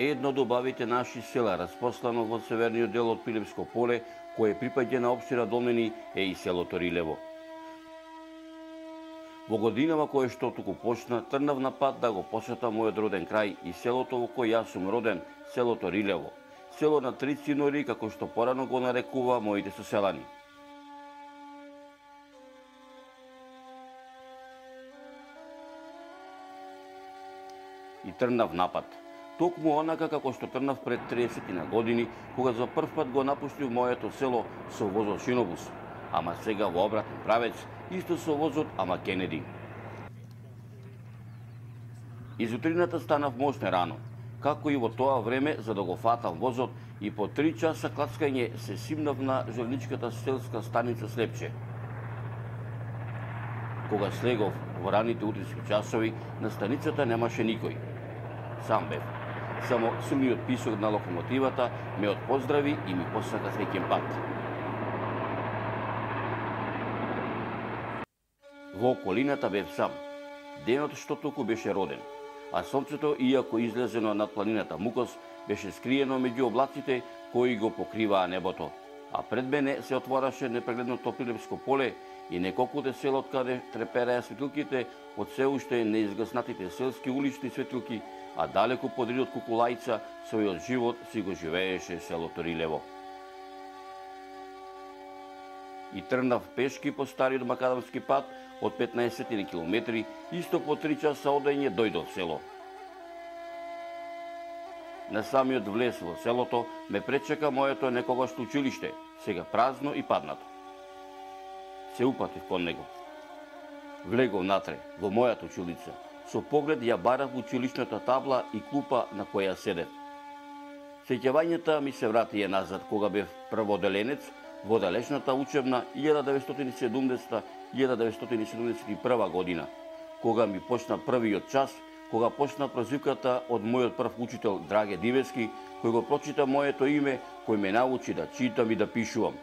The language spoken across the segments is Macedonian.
едно од убавите наши села, распослано во северниот дел од Пилевско поле, кое припаѓа на општина Долмени, е и селото Рилево. Во годинава кое што туку почна, трнав на пат да го посетам мојот роден крај и селото во кој јас сум роден, селото Рилево, село на три цинори, како што порано го нарекува моите соселани. И трнав напад. Токму онака како што трнав пред 30 години, кога за прв пат го напуштив моето село со возот шинобус, ама сега во обратен правец, исто со возот ама Кенеди. Из утрината станав мощне рано, како и во тоа време за да го фатам возот и по 3 часа клацкање се симнав на желничката селска станица Слепче. Кога слегов во раните утрински часови, на станицата немаше никој. Сам бев. Само сумниот писок на локомотивата ме отпоздрави и ми посака среќен пат. Во околината бев сам. Денот што току беше роден, а сонцето, иако излезено над планината Мукос, беше скриено меѓу облаците кои го покриваа небото, а пред мене се отвораше непрегледното Пилевско поле и неколкуте села од каде трепереа светилките од се уште неизгаснатите селски улични светилки, а далеку подри од Кукулајца својот живот си го живееше селото Рилево. И трнав пешки по стариот макадамски пат од 15 километри, исто по 3 часа одење дојдов село. На самиот влез во селото ме пречека моето некогашно училиште, сега празно и паднато. Се упатив кон него. Влегов натре, во мојата училица. Со поглед ја барав училишната табла и клупа на која седев. Сеќавањата ми се вратија назад кога бев прводеленец во далечната учебна 1970-1971 година, кога ми почна првиот час, кога почна прозивката од мојот прв учител Драге Дивески, кој го прочита моето име, кој ме научи да читам и да пишувам.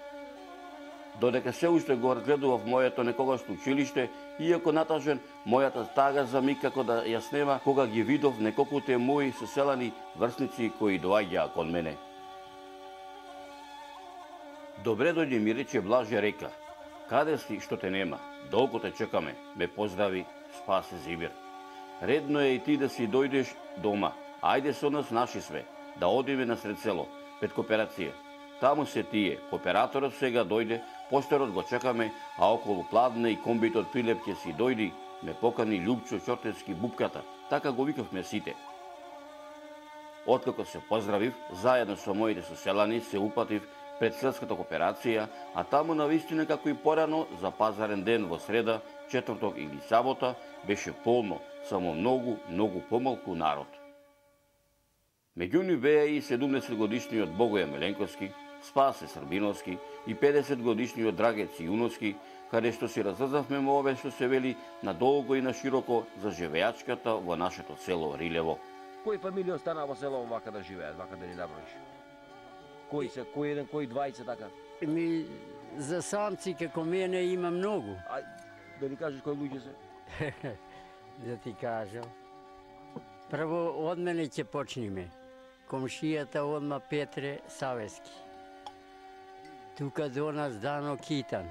Додека се уште го разгледував моето некогашно училиште, иако натажен, мојата стага за миг како да ја снема, кога ги видов неколкуте мои соселани врсници кои доаѓаа кон мене. Добре дојде, ми рече Блаже Река. Каде си, што те нема? Долго те чекаме, ме поздрави Спасе Зибир. Редно е и ти да си дојдеш дома. Ајде со нас наши све, да одиме на сред село, пред кооперација. Таму се тие, кооператорот сега дојде, поштерот го чекаме, а околу Пладне и комбитот Пилеп ќе си дојди, ме покани Љупчо Чортевски бупката, така го викавме сите. Откако се поздравив, заедно со моите соселани се упатив пред селската кооперација, а таму навистина како и порано за пазарен ден во среда, четврток или сабота беше полно, само многу помалку народ. Меѓу нив беа и 70-годишниот Богоја Меленковски, Спасе Србиновски и 50-годишниот Драге Цијуновски, каде што си разрзавме ове што се вели надолго и на широко за живеачката во нашето село Рилево. Кои фамилии остана во село вака да живеат, вака да ни наброиш? Кои се, кој еден, кој 20 така? За самци како мене има многу. Да ни кажеш кои луѓе се? Да ти кажам. Прво од мене ќе почниме. Комшијата одма Петре Савески. Тука до нас Дано Китан.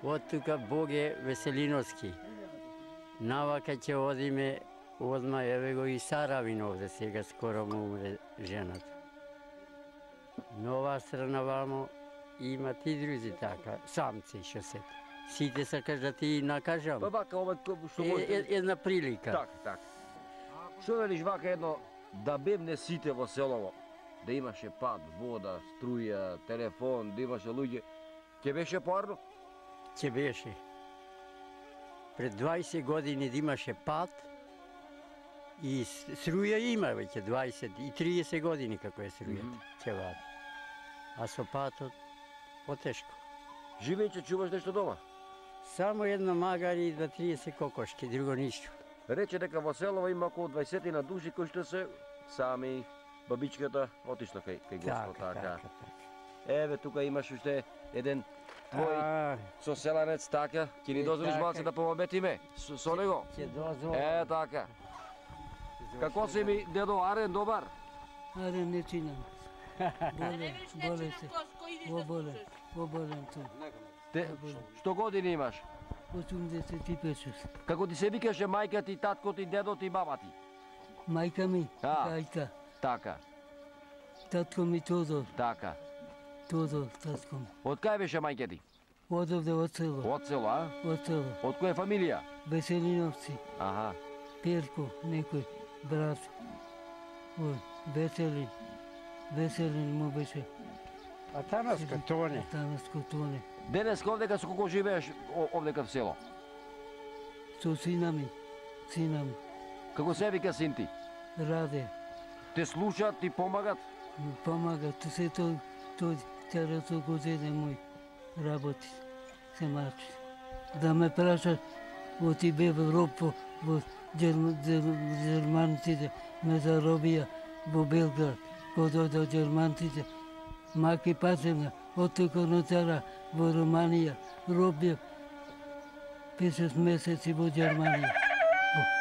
Од тука Боге Веселиновски. Навака ќе одиме одма, еве го и Саравин овде, сега скоро му умре жената. Нова страна вамо има ти друзи така, самци што се. Сите сакаш да ти накажам? Па вака, ова што може... Една прилика. Така. Што велиш вака едно, да бевне сите во селово, да имаше пат, вода, струја, телефон, да имаше луѓе, ќе беше поарно? Ќе беше. Пред 20 години да имаше пат и струја има веќе 20 и 30 години како е струјата, ќе вади. А со патот потешко. Живејќи чуваш нешто дома? Само едно магари и 30 кокошки, друго ништо. Рече дека во селово има околу 20 на души кои што се сами, бабичката отишла кај Господ, така. Еве, тука имаш уште еден твој соселанец, така. Ќе ни дозволиш малце да помабетиме со него? Ќе дозволам. Така. Како си ми дедо Арен, добар? Арен не чинам. Оболен ту. Те, што години имаш? 85. Како ти се викаше мајка ти, татко ти, дедо ти, баба ти? Мајка ми, А. Кајка. Така, Татко ми Тодор. така. Тодор, татко ми. Од кај беше мајка ти? Одовде од село. Од село, а? Од село. Од која фамилија? Веселиновци. Аха. Перко, некој брат. Од Веселин. Веселин му беше. Атанаско Тоне. Танаско Тоне. Денеска овдека со колку живееш овдека в село? Со сина ми. Сина ми. Како се вика син ти? Раде. Те слушаат, ти помагат? Ми помага. Се тој целото година мој работи. Се мачи. Да ме праша, оти бе в Европа, во Германците ме заробија во Белград. Кога дојде Германците, маки пасена, оттука нотара во Романија, робија 5 месеци во Германија,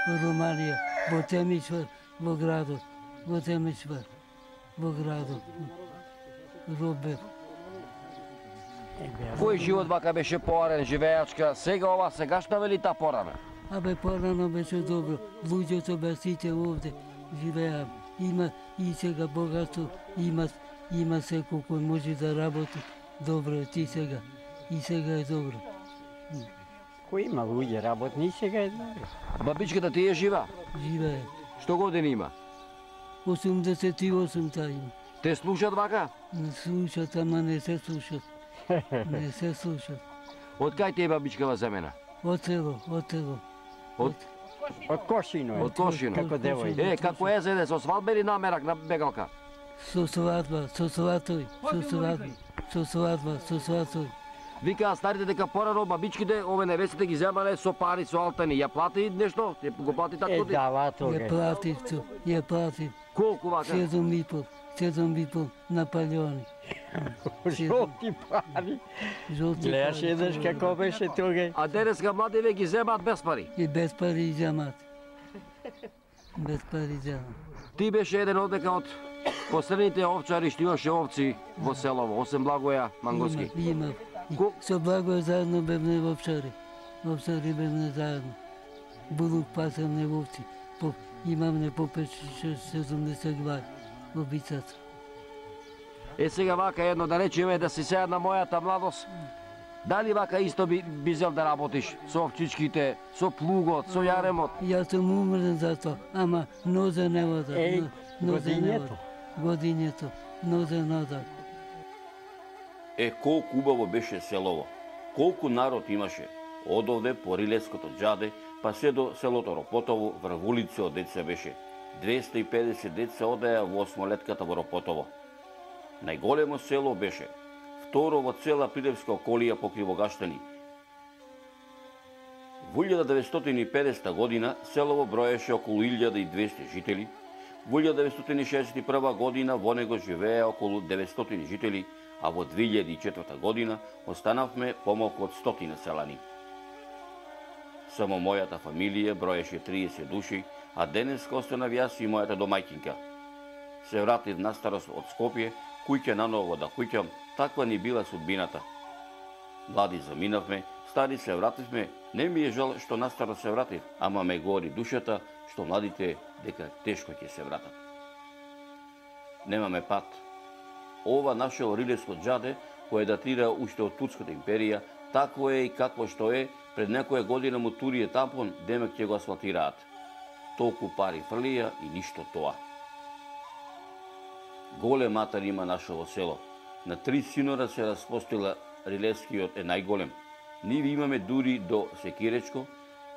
во Романија, во Темишвар, во градот, во Темишвар, во градот, робев. Кој живот вака беше поарен, живеачка, сега ова сегашна вели та порана? Абе, порано беше добро, луѓето бе сите овде живеам. Има и сега богатство, има секој кој може да работи добро ти сега. И сега е добро. Кој има луѓе работни, сега е добро. Бабичката ти е жива? Живее. Што години има? 88 та има. Те слушат вака? Не слушат, ама не се слушат. Не се слушат. Од кај ти е бабичкава земена? Од село, од село. Од Од Кошино е. Од Кошино. Како девој. Како е зеде, со свадба или намерак на бегалка? Со свадба, со сватој, со свадба, со свадба, со сватој. Викаа старите дека порано бабичките, ове невестите ги земале со пари, со алтани. Ја плати нешто? Ја го плати татко ти? Дава Ја тога. платив то, ја платив. Колку вака? 7,5 Наполеони. Жолти пари. Жолти Гледаш пари. еднаш како беше тога. А денеска младиве ги земаат без пари. И без пари земат. Без пари земат. Ти беше еден одека од последните овчари што имаше овци во селово, осем Благоја Мангоски. Има. Ко- Со Благој заедно бевме во овчари. Овчари бевме заедно. Булук пасемне овци. Имамне по 5-70 глави во бицата. Е сега вака едно да речеме да си сега на мојата младост. Дали вака исто би зел да работиш со овчичките, со плугот, со јаремот? Јас сум умрен за тоа, ама нозе не вода. Еј, нозе не годињето. вода. Годињето, нозе вода. Колку убаво беше селово, колку народ имаше, од овде по Рилеското џаде, па се до селото Ропотово, врв улица од деца беше. 250 деца одеа во осмолетката во Ропотово. Најголемо село беше, второ во цела Прилепска околија по Кривогаштани. Во 1950 година селово броеше околу 1200 жители, во 1961 година во него живееа околу 900 жители, а во 2004 година останавме помалку од 100 селани. Само мојата фамилија броеше 30 души, а денеска останав јас и мојата домајќинка. Се вратив на старост од Скопје, куќа наново да куќам, таква ни била судбината. Млади заминавме, стари се вративме, не ми е жал што на старост се вратив, ама ме гори душата што младите дека тешко ќе се вратат. Немаме пат. Ова наше Рилеско џаде, кое датира уште од Турската империја, такво е и какво што е, пред некоја година му турие тампон, демек ќе го асфалтираат. Толку пари фрлија и ништо тоа. Голем атар има нашето село. На 3 синора се распостила Рилескиот е најголем. Ниве имаме дури до Секиречко,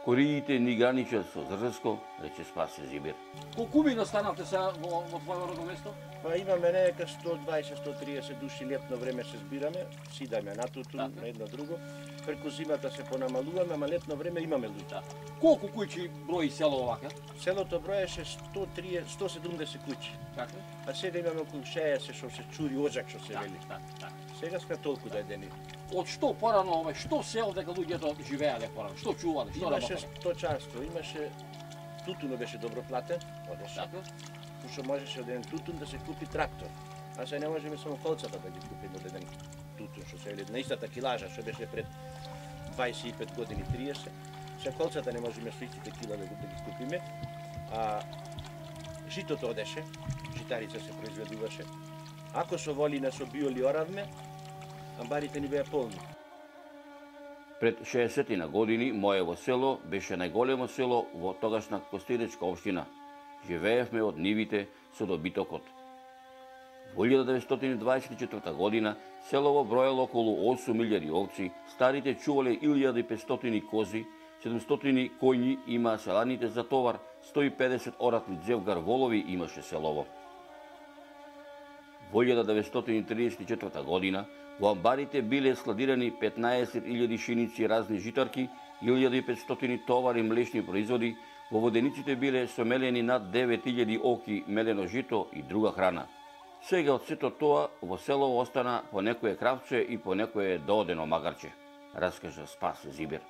кориите ни граничат со Зрзеско, рече Спасе Зибир. Колку ми настанавте сега во твојо родно место? Па имаме нека 120-130 души летно време се збираме, сидаме на туту, на едно друго. Преку зимата се понамалуваме, ама летно време имаме луѓе. Колку куќи брои село овака? Селото броеше 170 куќи, Така? а сега имаме околу 60 што се чури оджак што се вели. Сега сме толку дадени. Од што порано што сел дека луѓето живеале порано? Што чувале, што Имаше работеле? сточарство, имаше тутунот беше добро платен, одеше. Пошто можеше од еден тутун да се купи трактор. А се не можеме само колцата да ги купиме од еден тутун, што се на истата килажа, што беше пред 25 години, 30. Се колцата не можеме со истите кила да ги купиме. А житото одеше, житарица се произведуваше. Ако со волина со биоли оравме, амбарите ни беа полни. Пред 60 години моево село беше најголемо село во тогашна Костенечка општина. Живеевме од нивите со добитокот. Во 1924 година селово броело околу 8.000 овци, старите чувале 1.500 кози, 700 коњи имаа селаните за товар, 150 оратни дзевгар волови имаше селово. Во 1934 година во амбарите биле складирани 15.000 шиници разни житарки, 1.500 товари млечни производи, во водениците биле сомелени над 9.000 оки мелено жито и друга храна. Сега од сето тоа во село остана по некое кравче и по некое доодено магарче, раскажа Спас Зибер.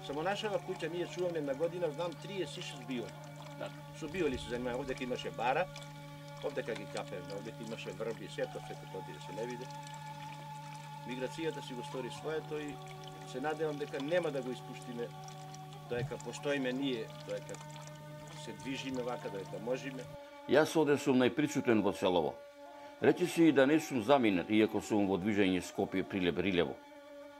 Само нашава куќа ние чуваме на година, знам 36 биоли. Со биоли се занимава, овде имаше бара, овде ги капевме, овде имаше врби, сето тоа се не виде. Миграцијата си го стори своето и се надевам дека нема да го испуштиме, доека постоиме ние, доека се движиме вака, доека можеме. Јас оде сум најприсутен во селово. Речи си и да не сум заминат, иако сум во движење Скопје Прилеп-Рилево.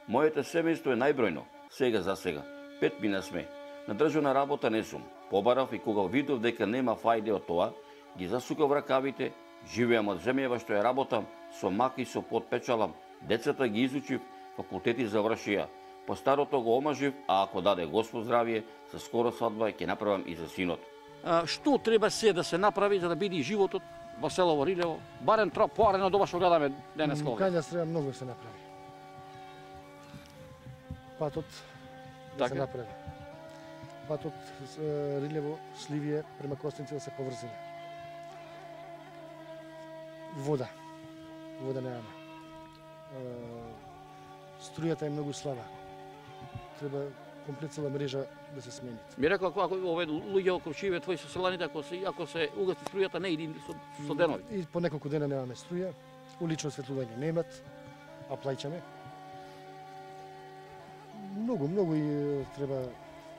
Моето семејство е најбројно, сега за сега. 5 мина сме. На државна работа не сум. Побарав и кога видов дека нема фајде од тоа, ги засукав ракавите, живеам од земјава што ја работам, со маки со подпечалам, децата ги изучив, факултети завршија. По старото го омажив, а ако даде Господ здравје, со скоро свадба ќе направам и за синот. Што треба се да се направи за да биде животот во село Рилево, барем поарено од ова што гледаме денеска овде? Кај треба многу да се направи. Патот да се направи. Патот Рилево, Сливие, према Костенци да се поврзиме. Вода. Вода немаме. Струјата е многу слаба. Треба комплет цела мрежа да се смени. Ми рекол ако овие луѓе околу живеат твои соселаните, ако се угаси струјата не иди со денови. И по неколку дена немаме струја, улично осветлување немат, а плаќаме. Многу и треба.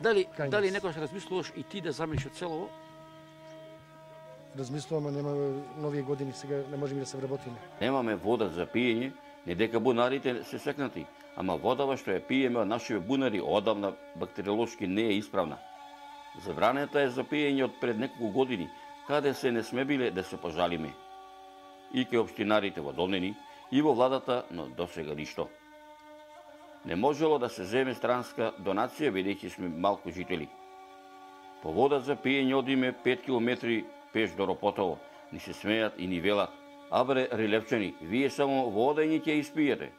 Дали некојаш размислуваш и ти да заминиш од селово? Размислувам, нема нови години, сега не можеме да се вработиме. Немаме вода за пиење, не дека бунарите се секнати, ама водава што ја пиеме од нашите бунари одавна бактериолошки не е исправна. Забранета е за пиење од пред неколку години, каде се не сме биле да се пожалиме. И ке општинарите во Долнени, и во владата, но досега ништо. Не можело да се земе странска донација, бидејќи сме малку жители. По вода за пиење одиме 5 километри пеш до Ропотово, ни се смејат и ни велат: "Абре, рилевчани, вие само вода и ќе испиете."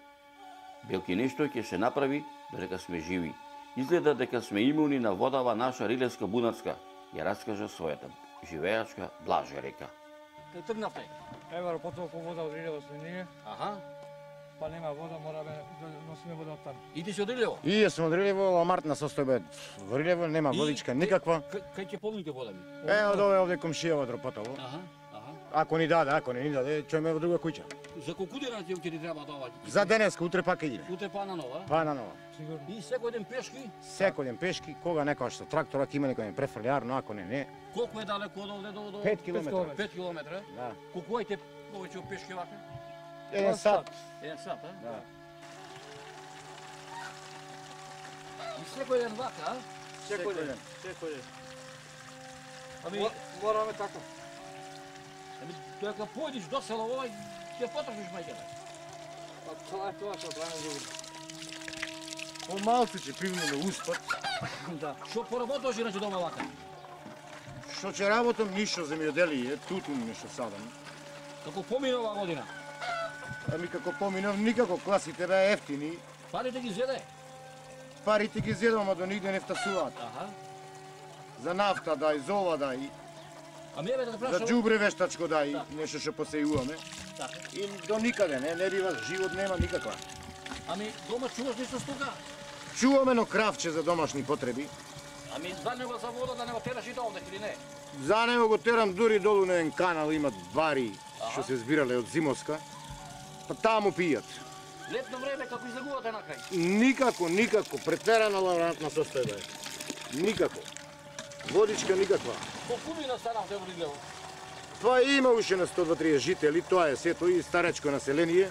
Белки нешто ќе се направи додека сме живи. Изгледа дека сме имуни на водава наша рилевска бунарска, ја раскажа својата живеачка Блажа река. Кај тргнавте? Ева Ропотово по вода од Рилево сме ние, Аха. па нема вода, мораме да носиме вода од таму. И ти си од Рилево? И јас сум од Рилево, амартна состојба во Рилево, нема водичка никаква. Кај ќе полните вода ми? Од овде комшија од Ропотово. Аха. Ако ни даде, ако не ни даде, чојме во друга куќа. За колку дена ќе ти треба тоа? За денеска, утре пак идиме. Утре па на нова? Па на нова. Сигурно. И секој ден пешки? Секој ден пешки, кога некојаш со трактор, ако има некој префрлјар, но ако не. Колку е далеко од овде до 5 километра. 5 километра? Да. Колку ајте повеќе од пешки вака? 1 сат. 1 сат, а? Да. И секој ден вака, а? Секој ден. Секој ден. Ами, Мораме така. додека појдиш до село овај, ќе потрошиш мајката. Па тоа е тоа што правиме друго. Помалку ќе привнеме успат. Да. Што поработуваш иначе дома вака? Што ќе работам, ништо земјоделие, тутун нешто садам. Како помина оваа година? Ами како поминав, никако класите беа ефтини. Парите ги зеде? Парите ги зедам, ама до нигде не втасуваат. Аха. За нафта дај, за ова дај, Ами еве да те за прашам. џубре вештачко дај, Да. нешто што посејуваме. Така. И до никаде, не бива, живот нема никаква. Ами дома чуваш нешто стока? Чуваме едно кравче за домашни потреби. Ами за него за вода да не го тераш и до овде или не? За него го терам дури долу на еден канал, имат бари што се збирале од Зимовска. Па таму пијат. Летно време како излегувате на крај? Никако, претерана лаврантна состојба е. Никако. Водичка никаква. Колкумина станавте во Рилево? Тоа има уште на 120 жители, тоа е сето и старечко население.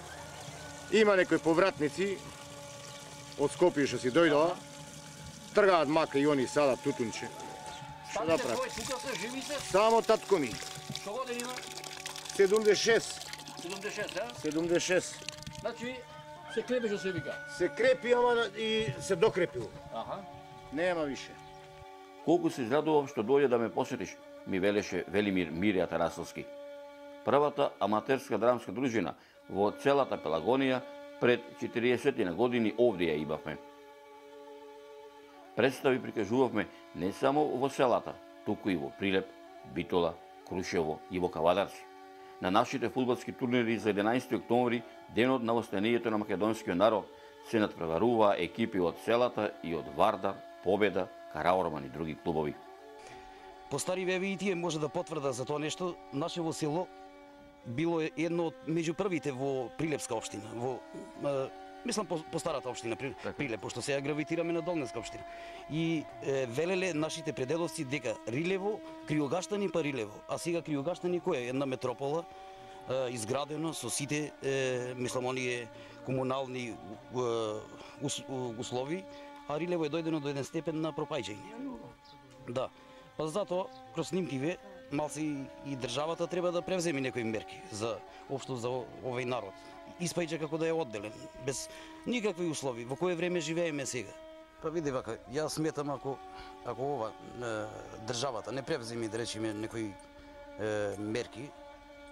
Има некои повратници од Скопје што си дојдоа. Тргаат мака и они садат тутунче. Што да прават? Тука се живи се? Само татко ми. Што години има? 76. 76, а? 76. Значи се крепи што се вика. Се крепи, ама и се докрепил. Аха. Нема више. Колку се израдував што дојде да ме посетиш, ми велеше Велимир Мирија Тарасовски. Првата аматерска драмска дружина во целата Пелагонија пред 40 години овде ја имавме. Представи прикажувавме не само во селата, туку и во Прилеп, Битола, Крушево и во Кавадарци. На нашите фудбалски турнири за 11 октомври, денот на востанието на македонскиот народ, се надпреваруваа екипи од селата и од Вардар, Победа, Караорман и други клубови. По стари веви и тие може да потврда за тоа нешто. Нашево село било едно од меѓу првите во Прилепска општина, мислам по старата општина Прилеп, пошто сега гравитираме на Долнеска општина. И велеле нашите предедовци дека Рилево, Криогаштани па Рилево, а сега Криогаштани кој е една метропола изградено со сите мислам оние комунални услови, а Рилево е дојдено до еден степен на пропаѓање. Да. Па затоа кроз снимкиве малце и државата треба да превземе некои мерки за општо за овој народ. Испаѓа како да е одделен, без никакви услови. Во кое време живееме сега? Па види вака, јас сметам ако ова државата не превземе да речеме некои мерки,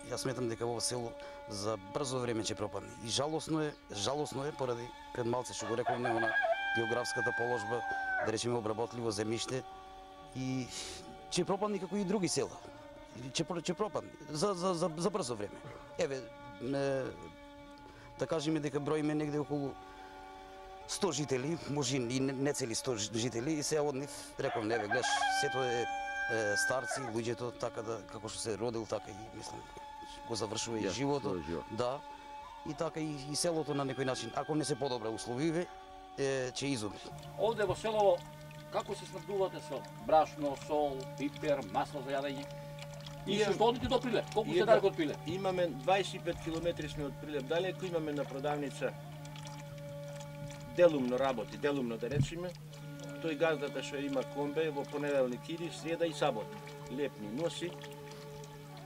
јас сметам дека во село за брзо време ќе пропадне. И жалосно е поради пред малце што го рековме на географската положба, да речеме обработливо земјиште и ќе пропадне како и други села. Ќе пропадне за брзо време. Еве да кажеме дека броиме негде околу 100 жители, може и не цели 100 жители, и сега од нив реков еве гледаш, сето е старци, луѓето така да како што се родил така и мислам го завршува и животот. Да. И така и селото на некој начин, ако не се подобра условиве, ќе изумре. Овде во селово како се снабдувате со брашно, сол, пипер, масло за јадење? И што одите до Прилеп? Колку се далеко од Прилеп? Имаме 25 километри сме од Прилеп далеко, имаме на продавница делумно работи, делумно да речеме. Тој газдата што има комбе во понеделник иди, среда и сабота. Лепни носи.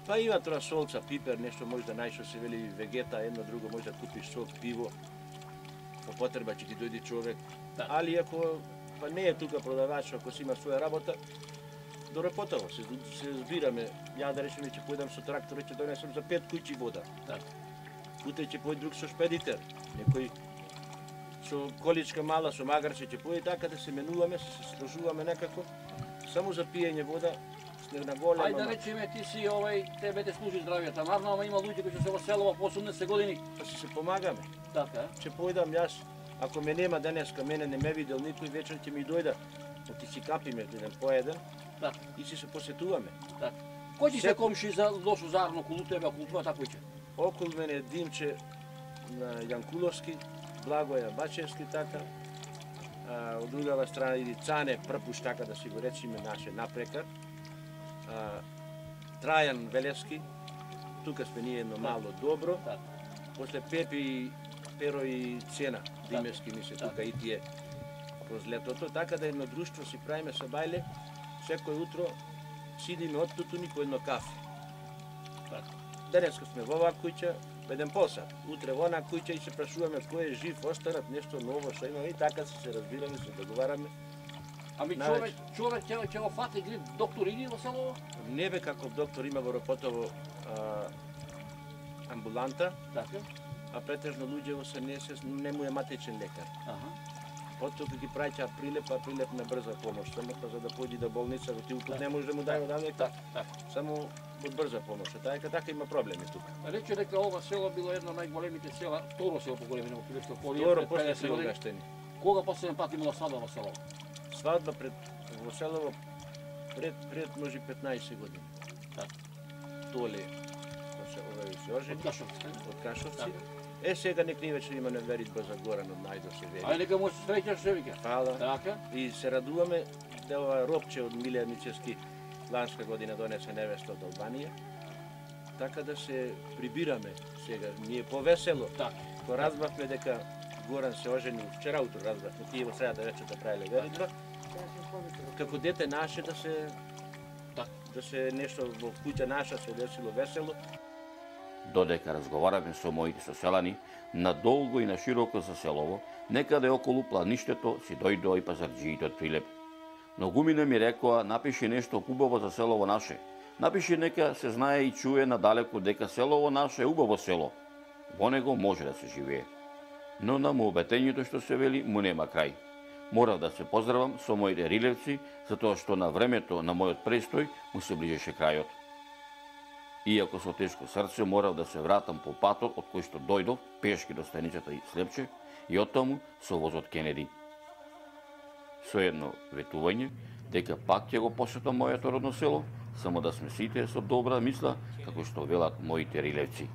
Па има тоа солца, пипер, нешто може да најшо се вели вегета, едно друго може да купиш сок, пиво. По потреба ќе ти дојде човек. Али ако па не е тука продавач, ако си има своја работа, до рапотово се збираме. Ја да речеме ќе појдам со трактор, ќе донесам за 5 куќи вода. Утре ќе појде друг со шпедитер, некој со количка мала, со магарче ќе појде, така да се менуваме, се сложуваме некако, само за пиење вода, на голема. Ајде да речеме ти си тебе те служи здравјата, марно, ама има луѓе кои се во село по 80 години. Па се помагаме. Така. Ќе појдам јас, ако ме нема денеска, мене не ме видел никој, вечер ќе ми дојда, оти си капиме еден по еден, и си се посетуваме. Кој ти се комши за лошо зарно околу тебе, околу твојата куќа? Околу мене Димче на Јанкуловски, Благоја Бачевски така, од другава страна иди Цане Прпуш, така да си го речиме, наше напрекар, Трајан Велевски, тука сме ние едно мало добро, после Пепи, Перо и Цена, Димевски ми се тука и тие проз летото, така да едно друштво си правиме со бајле, секој утро сидиме од тутуни по едно кафе. Денеска сме во оваа куќа, еден посад, утре во она куќа и се прашуваме кој е жив, останат нешто ново што има и така се разбираме, се договараме. Ами човек ќе го фати грип, доктор иди во село? Не бе каков доктор има во Ропотово амбуланта, а претежно луѓе се не му е матечен лекар. Потоа ги праќа Прилеп, а Прилеп на брза помош, само за да појди до болница, ти упут не може да му дај одамека, само од брза помош, така има проблеми тука. Рече дека ова село било едно од најголемите села, второ село по големина во Прилепско поле. Второ после Криогаштани. Кога последен пат имало свадба во село? Свадба пред во селово пред може 15 години. Толе се ожени од Кашовци. Сега нек ни вече има веритба за Горан од Најдо се вери. Ајде нека му се среќаш се вика. Фала. Така. И се радуваме да ова Ропче од Милија Мичевски ланска година донесе невеста од Албанија. Така да се прибираме сега. Ние повесело. Така. Ко разбавме дека Горан се ожени вчера утро разбавме, тие во средата вечерта правеле веритба. Како дете наше да се нешто во куќа наша се десило весело. Додека разговараме со моите соселани, надолго и на широко за селово, некаде околу плаништето си дојдоа и пазарџиите од Прилеп. Многумина ми рекоа, напиши нешто убаво за селово наше. Напиши нека се знае и чуе надалеку дека селово наше е убаво село. Во него може да се живее. Но на мообетењето што се вели му нема крај. Морав да се поздравам со моите рилевци, затоа што на времето на мојот престој му се ближеше крајот. Иако со тешко срце морав да се вратам по патот од кој што дојдов пешки до станицата и Слепче и оттаму со возот Кенеди. Со едно ветување дека пак ќе го посетам моето родно село, само да сме сите со добра мисла, како што велат моите рилевци.